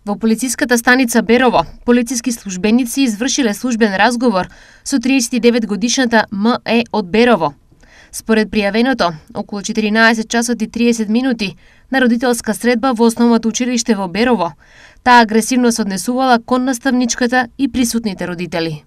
Во полициската станица Берово, полициски службеници извршиле службен разговор со 39 годишната М.Е. од Берово. Според пријавеното, околу 14 часот и 30 минути на родителска средба во основното училиште во Берово, таа агресивно се однесувала кон наставничката и присутните родители.